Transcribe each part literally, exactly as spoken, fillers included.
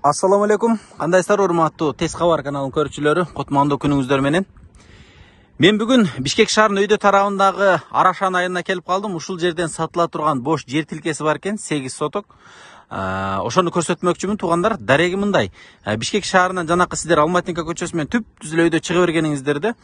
Assalamu alaikum. Кандайсыздар, урматтуу Тез кабар каналынын көрүүчүлөрү? Кутмандуу күнүңүздөр менен. Мен бүгүн Бишкек шаарынын өйдө тарабындагы Арашан айылына келип калдым. Ушул жерден сатыла турган бош жер тилкеси бар экен, сегиз соток. Ошону көрсөтмөкчүмүн туугандар. Дареги мындай. Бишкек шаарынан жанакы сиздер Алматинка көчөсү менен түп түз эле өйдө чыга бергениңиздерде,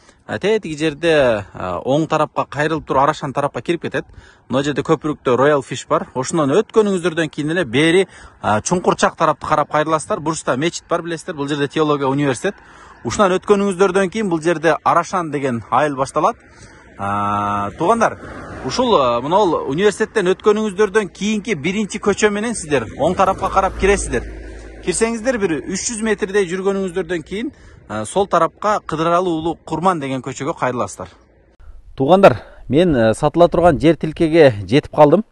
тетиги жерде оң тарапка кайрылып туруп Арашан тарапка кирип кетет. Мына жерде көпүрүктө Royal Fish бар. Ошондон өткөнүңүздөрдөн кийин эле бери Чуңкурчак тарапты карап кайрыласыздар. Бурчта мечит бар, билесиздер. Бул жерде теология университет. Ушунан өткөнүңүздөрдөн кийин бул жерде Арашан деген айыл башталат. Туугандар, ушул мынол университеттен өткөнүңүздөрдөн кийинки биринчи көчө менен сиздер оң тарапка карап киресиздер. Кирсеңиздер бир үч жүз метрдей жүргөнүңүздөрдөн кийин сол тарапка Кыдыралы уулу Курман деген көчөгө кайрыласыздар. Туугандар, мен сатыла турган жер тилкеге жетип калдым.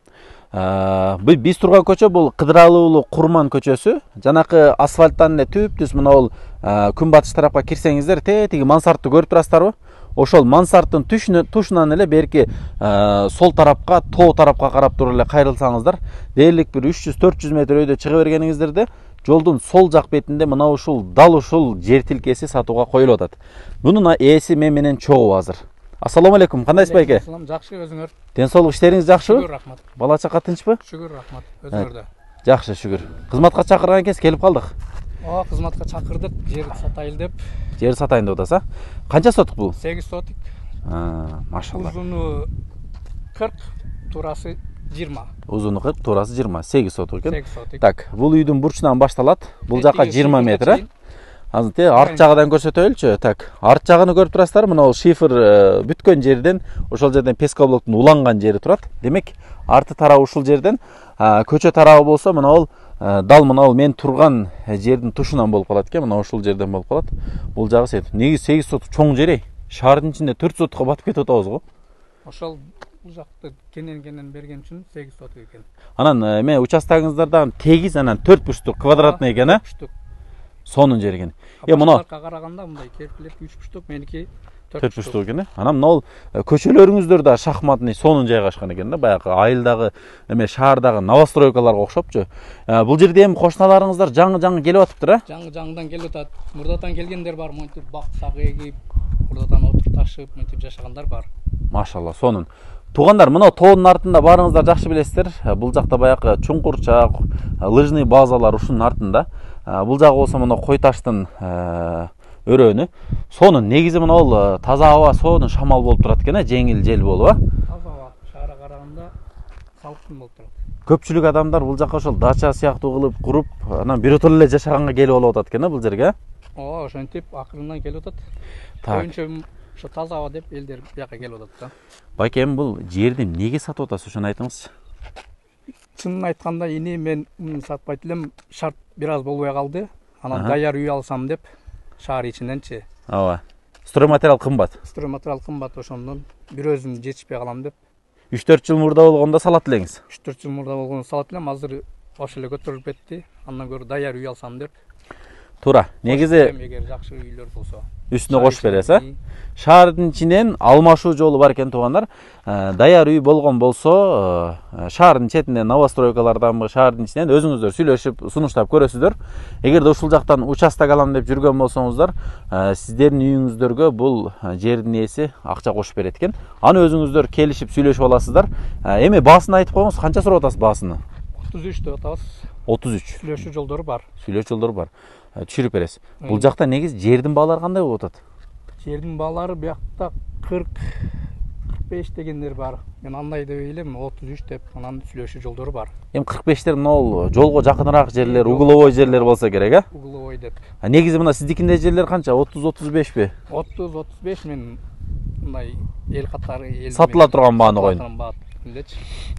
Биз турган көчө бул Кыдыралы уулу Курман көчөсү. Жанакы асфальттан эле түп-түз мынол күнбатыш тарапка кирсеңиздер, тетиги мансартты көрүп турасыздарбы? Ошол мансарттын тушунан эле берки сол тарапка, тоо тарапка карап туруп эле кайрылсаңыздар, дээрлик бир үч жүз төрт жүз метр өйдө чыга бергениңиздерде жолдун сол жак бетинде мына ушул дал ушул жер тилкеси сатууга коюлуп атат. Мунун ээси мен менен чогуу азыр. Ассаламу алейкум, кандайсыз байке? Ассалам, жакшы, өзүңөр? Ден соолук иштериңиз жакшыбы? Шүгүр, рахмат. Бала чака тынчпы? Шүгүр, рахмат. Өзүңөрдө? Жакшы, шүгүр. Кызматка чакырган экенсиз, келип калдык. Ооба, кызматка чакырдык, жер сатайын деп. Жер сатайын деп атасыз, а? Канча сотук бул? сегиз сотук. Машалла. Узуну кырк, туурасы жыйырма. Узуну кырк, туурасы жыйырма. сегиз сотук экен. сегиз сотук. Так, бул үйдүн бурчунан башталат. Бул жака жыйырма метр, а? Азыр арт жагынан көрсөтөлүчү. Так, арт жагын көрүп турасыздар. Мына бул шифер бүткөн жерден, ошол жерден пескоблоктун уланган жери турат. Демек, арты тарабы ушул жерден, көчө тарабы болсо мына бул дал мына бул мен турган жердин тушунан болуп калат экен. Мына ушул жерден болуп калат. Бул жагы сет. Негизи сегиз сотук чоң жер. Шаардын ичинде төрт сотукка батып кетип атабыз го. Ошол бул жакты кенен-кенен берген үчүн сегиз сотук экен. Анан эме участогуңуздардан тегиз, анан төрт бурчтук квадратный экен, а? Сонун жер экен. Э, мына караганда мындай керпилер үч бурчтук, меники төрт бурчтук экен. Анан мына бул көчөлөрүңүздөр да шахматный сонун жайгашкан экен да, баягы айылдагы эме шаардагы новостройкаларга окшопчу. Бул жерде эми кошуналарыңыздар жаңы-жаңы келип атыптыр, а? Жаңы-жаңыдан келип атат. Мурдатан келгендер бар, монтип бак-сак эгип, мурдатан отур ташып, мынтип жашагандар бар. Машалла, сонун. Туугандар, мына тоонун артында баарыңыздар жакшы билесиздер. Бул жакта баягы Чуңкурчак, лыжный базалар ушунун артында. Бул жагы болсо мына кой таштын өрөөнү. Сонун негизи мына бул таза аба, сонун шамал болуп турат экен, жеңил жел болуп, а? Таза аба, шаарга караганда салкын болуп турат. Көпчүлүк адамдар бул жака ошол дача сыяктуу кылып куруп, анан биротоло эле жашаганга келип алып атат экен, бул жерге, а? Ооба, ошентип акырынан келип атат. Так. Көбүнчө ошо таза аба деп элдер бияка келип атат да. Байке, эми бул жерди эмнеге сатып атасыз, ошону айтыңызчы. Чынын айтканда, эми мен муну сатпайт элем, шарт бир аз болбой калды. Анан даяр үй алсам деп, шаар ичиненчи. Ооба. Стройматериал кымбат. Стройматериал кымбат, ошондон бир өзүм жетишпей калам деп. үч төрт жыл мурда болгондо салат элеңиз. үч төрт жыл мурда болгондо салат элем, азыр ошо эле көтөрүлүп кетти. Андан көрө даяр үй алсам деп. Туура. Негизи эгер жакшы үйлөр болсо үстүнө кошуп бересиз, а? Шаардын ичинен алмашуу жолу бар экен туугандар. Даяр үй болгон болсо, шаардын четинен новостройкаларданбы, шаардын ичинен өзүңүздөр сүйлөшүп, сунуштап көрөсүздөр. Эгерде ушул жактан участок алам деп жүргөн болсоңуздар, сиздердин үйүңүздөргө бул жердин ээси акча кошуп берет экен. Аны өзүңүздөр келишип сүйлөшүп аласыздар. Эми баасын айтып коюңуз, канча сурап атасыз баасыны? отуз үч деп атабыз. отуз үч. Сүйлөшүү жолдору бар. Сүйлөшүү жолдору бар. Түшүрүп бересиз. Бул жакта негизи жердин баалары кандай болуп атат? Жердин баалары биякта кырк кырк беш дегендер бар. Мен андай деп ойлойм, отуз үч деп, анан сүйлөшүү жолдору бар. Эми кырк бештер мына жолго жакыныраак жерлер, угловой жерлер болсо керек, а? Угловой деп. Негизи мына сиздикинде жерлер канча? отуз отуз бешпи? отуз отуз беш мен мындай эл катары эл сатыла турган бааны коюн.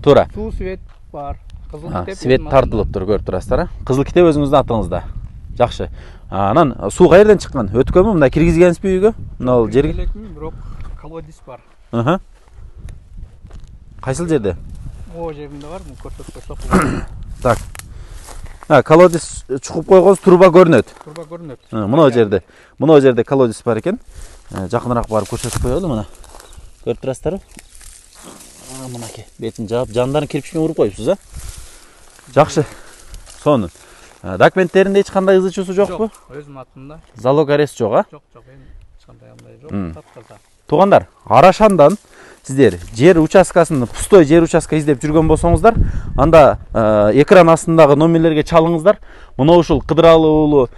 Туура. Суу свет бар. Кызыл китеп. Свет тартылып тур, көрүп турасыздар, а? Кызыл китеп өзүңүздүн атыңызда. Жакшы. Анан суу каерден чыккан? Өткөнбү? Мында киргизгенсизби үйгө? Мына бул жерге. Бирок колодец бар. Аха. Кайсыл жерде? О жеринде бар, муну көрсөтүп койсок. Так. А, колодец чукуп койгонсуз, труба көрүнөт. Труба көрүнөт. Мына жерде. Мына жерде колодец бар экен. Жакыныраак барып көрсөтүп коелу мына. Көрүп турасыздарбы? Мынакей, бетин жаап, жандарын кирпичке уруп коюпсуз, а? Жакшы. Сонун. Документтеринде эч кандай ызы чуусу жокпу? Жок, өзүм атымда. Залог арест жок, а? Жок, жок, эми эч кандай андай жок, тапказа. Туугандар, Арашандан сиздер жер участкасын, пустой жер участка издеп жүргөн болсоңуздар, анда экран астындагы номерлерге чалыңыздар. Мына ушул Кыдыралы уулу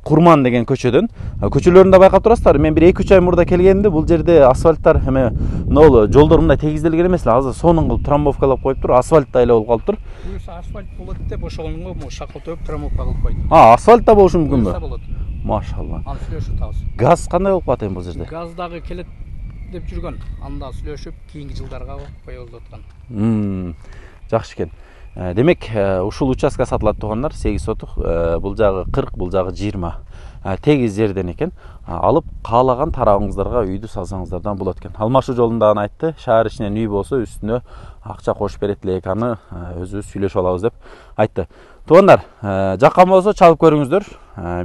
Курман деген көчөдөн. Көчөлөрүндө байкап турасыздар. Мен бир эки үч ай мурда келгенде бул жерде асфальттар эме мына жолдор мындай тегизделген эмес эле. Азыр сонун кылып трамбовкалап коюптур, асфальт да эле болуп калыптыр. Буюрса асфальт болот деп ошонгонго могу шакал төп трамбовка кылып койду. А, асфальт да болушу мүмкүнбү? Болот. Машалла. Аны сүйлөшүп табыз. Газ кандай болуп калат эми бул жерде? Газ дагы келет деп жүргөн. Анда сүйлөшүп кийинки жылдарга коебуз деп аткан. Мм. Жакшы экен. Демек, ушул участка сатылат туугандар, сегиз сотук, бул жагы кырк, бул жагы жыйырма. Тегиз жерден экен. Алып каалаган тарабыңыздарга үйдү салсаңыздардан болот экен. Алмашуу жолунда аны айтты. Шаар ичинен үй болсо үстүнө акча кошуп берет элек, аны өзүбүз сүйлөшүп алабыз деп айтты. Туугандар, жаккан болсо чалып көрүңүздөр.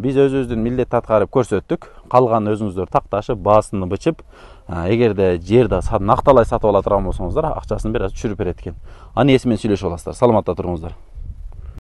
Биз өзүбүздүн милдетти аткарып көрсөттүк. Калган өзүңүздөр такташып, баасыны бычып, эгерде жерди накталай сатып ала турган болсоңуздар, акчасын бир аз түшүрүп берет экен. Аны эси менен сүйлөшүп аласыздар. Саламатта туруңуздар.